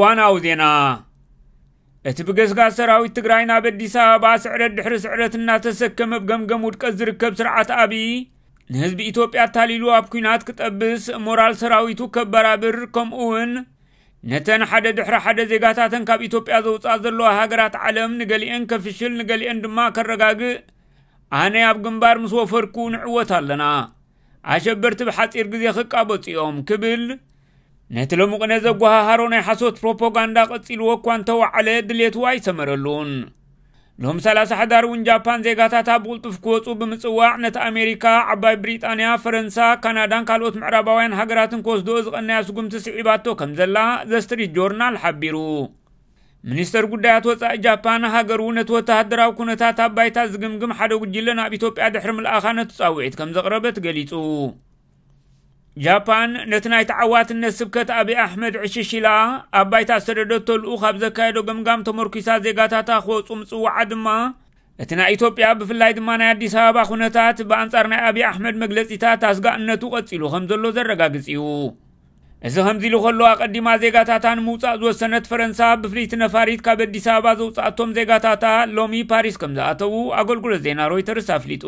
ዋናዊ ዜና። እቲ ብገስጋስ ሰራዊት ትግራይ ናብ ኣዲስ ኣበባ ስዕረት ድሕሪ ስዕረት እናተሰከመ ኣብ ገምገም ውድቀት ዝርከብ ስርዓት ኣብይ፣ ንህዝቢ ኢትዮጵያ ኣታሊሉ ኣብ ኲናት ክጠብስ፣ ሞራል ሰራዊቱ ከበራብር፣ ከምኡ እውን ነተን ሓደ ድሕሪ ሓደ ዜጋታተን ካብ ኢትዮጵያ ዘውፅኣ ዘለዋ ሃገራት ዓለም፣ ንገሊአን ከፍሽል፣ ንገሊአን ድማ ከረጋግእ፣ ኣነ ኣብ ግንባር ምስ ወፈርኩ ንዕወት ኣለና፣ ኣሸበርቲ ብሓፂር ግዜ ክቃበፁ እዮም ክብል፣ ነቲ ሎሚ ቅነ ዘጓሃሃሮ ናይ ሓሶት ፕሮፓጋንዳ ቀፂልዎ እኳ እንተወዓለ፣ ድሌቱ ኣይሰመረሉን። ሎም ሰላሳ ሕዳር እውን ጃፓን ዜጋታታ ብቕልጡፍ ክወፁ ብምፅዋዕ፣ ነቲ ኣሜሪካ፣ ዓባይ ብሪጣንያ፣ ፈረንሳ፣ ካናዳን ካልኦት ምዕራባውያን ሃገራትን ክወስድኦ ዝቐነያ ስጉምቲ ስዒባቶ ከም ዘላ ዘ ስትሪት ጆርናል ሓቢሩ። ሚኒስተር ጉዳያት ወጻኢ ጃፓን፣ ሃገሩ ነቲ ወተሃደራዊ ኩነታት ኣብ ባይታ ዝግምግም ሓደ ጉጅለ ናብ ኢትዮጵያ ድሕሪ ምልኣኻ፣ ነቲ ጻውዒት ከም ዘቕረበት ገሊጹ። ጃፓን ነቲ ናይ ተዓዋትነት ስብከት ኣብይ ኣሕመድ ዕሽሽ ኢላ፣ ኣብ ባይታ ዝሰደደቶ ልኡኽ ኣብ ዘካየዶ ገምጋም ተመርኲሳ፣ ዜጋታታ ክወጹ ምጽዋዓ ድማ፣ እቲ ናይ ኢትዮጵያ፣ ብፍላይ ድማ ናይ ኣዲስ ኣበባ ኩነታት ብኣንጻር ናይ ኣብይ ኣሕመድ መግለጺታት ኣስጋእነቱ ቀጺሉ ከም ዘሎ ዘረጋግጽ እዩ። እዚ ከምዚ ኢሉ ከሎ፣ ኣቐዲማ ዜጋታታ ንምውጻእ ዝወሰነት ፈረንሳ፣ ብፍልይቲ ነፋሪት ካብ ኣዲስ ኣበባ ዘውጻኣቶም ዜጋታታ ሎሚ ፓሪስ ከም ዝኣተዉ ኣገልግሎት ዜና ሮይተርስ ኣፍሊጡ።